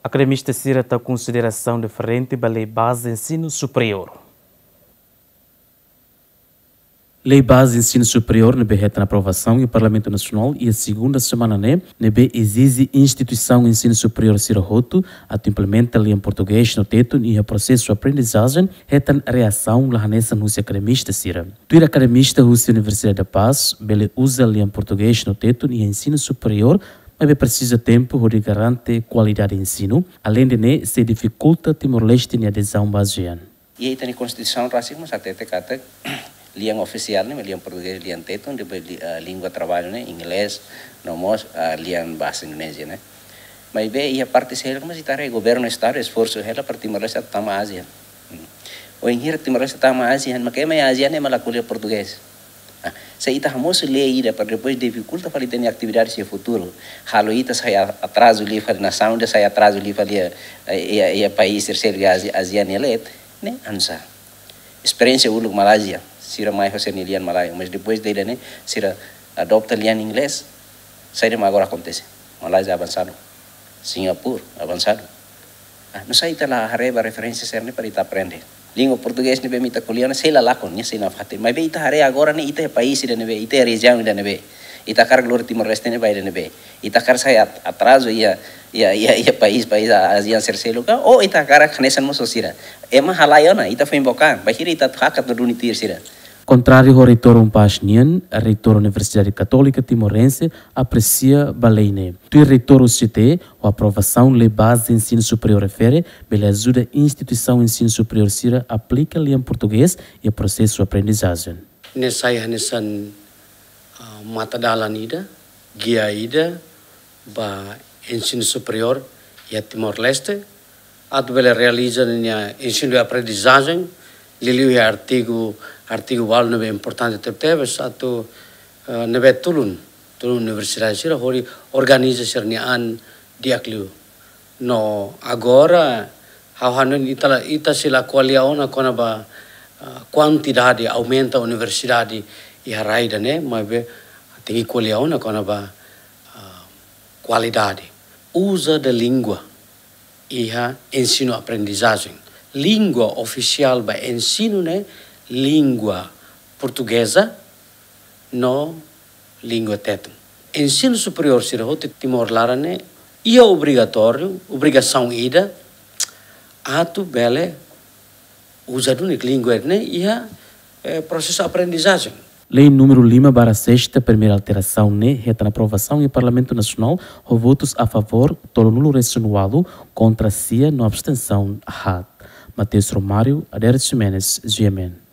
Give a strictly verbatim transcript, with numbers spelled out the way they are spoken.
Akademista sira tau konsiderasaun diferente ba Lei Baze Ensinu Superiór. Lei Baze Ensinu Superiór ne'ebé hetan aprovasaun iha Parlamentu Nasionál iha segunda semana ne'e, ne'ebé ezije instituisaun ensinu superiór sira hotu atu implementa lian portugés no tetun iha prosesu aprendizajen, hetan reasaun la hanesan husi akademista sira. Tuir akademista husi Universidade da Paz, bele uza lian portugés no tetun iha ensinu superiór, maibé presiza tempu hodi garante kualidade ensinu, aleinde ne'e sei difikulta Timor-Leste nia adezaun ba ASEAN. Iha ita-nia Konstituisaun rasik mós hatete katak lian ofisiál ne'e lian portugés, lian tetun, depois li-, ah, língua traballu ne'e inglés, no mós, ah, lian bahasa Indonézia ne'e. Maibé iha parte seluk mós ita haree governu estadu esforsu hela para Timor-Leste tama ASEAN. Hmm. Wainhira Timor-Leste tama ASEAN, mak ema iha ASEAN ne'e mak la ko'alia portugés. Ah, se ita hamosu lei ida para depois difikulta fali ita-nia atividade iha futuru, halo ita sai a-, atrazu liu fali, nasaun ida sai atrazu liu fali iha, iha, iha país terseiro iha ASEAN, ASEAN ne'e, ne'e oinsá. Esperiénsia uluk Malázia, sira mai ho sira-nia lian Malázia, mas depois de ne'e sira adota lian inglés, saida mak agora akontese? Malázia avansadu, Singapura avansadu. Ah, nusá ita la haree ba referénsia sira-ne'e para ita aprende? Língua portugés ne'ebé mak ita ko'alia ne'e sei la lakon, ne'e sei nafatin. Maibé ita haree agora ne'e ita iha país ida ne'ebé, ita iha rejiaun ida ne'ebé, ita hakarak lori Timor-Leste ne'e ba ida ne'ebé, ita hakarak sai at-, atrazu iha, iha, iha, iha país, país a-, ASEAN terseiro ka, ou ita hakarak hanesan mós sira. Ema halai ona, ita foin book an, bainhira ita hakat no duni tuir sira. Kontráriu ho Reitór UNPAZ nian, Reitór Universidade Katólika Timorense apresia ba lei ne'e. Tuir Reitór UCT, ho aprovasaun Lei Baze Ensinu Superiór refere, bele ajuda instituisaun ensinu superiór sira aplika lian portugés iha prosesu aprendizajen. Ne'e sai hanesan, ah, matadalan ida, gia ida, ba ensinu superiór iha Timor-Leste, atu bele realiza ninia ensinu aprendizajen, liuliu iha artigu, artigu ualu ne'ebé importante tebetebes, atu, eh, ne'ebé tulun, tulun universidade sira hodi organiza sira-nia an di'ak liu. No agora, ha'u hanoin ita la, ita sei la ko'alia ona kona-ba, ah, kuantidade, aumenta universidade iha rai ida-ne'e, maibé tenke ko'alia ona kona-ba, ah, kualidade. Uso da língua iha ensinu aprendizajen. Língua ofisiál ba ensinu ne'e língua portugeza no língua tetun. Ensinu superiór sira hotu Timor laran ne'e iha obrigatóriu, obrigasaun ida, atu bele uza duni língua ne'e iha, eh, prosesu aprendizajen. Lei númeru lima barra sesta, primeira alterasaun ne'e hetan aprovasaun iha Parlamentu Nasionál ho votus a favór tolunulu resin ualu, kontra sia no abstensaun haat. Mateus Romário, Adérito Ximenes, G M N.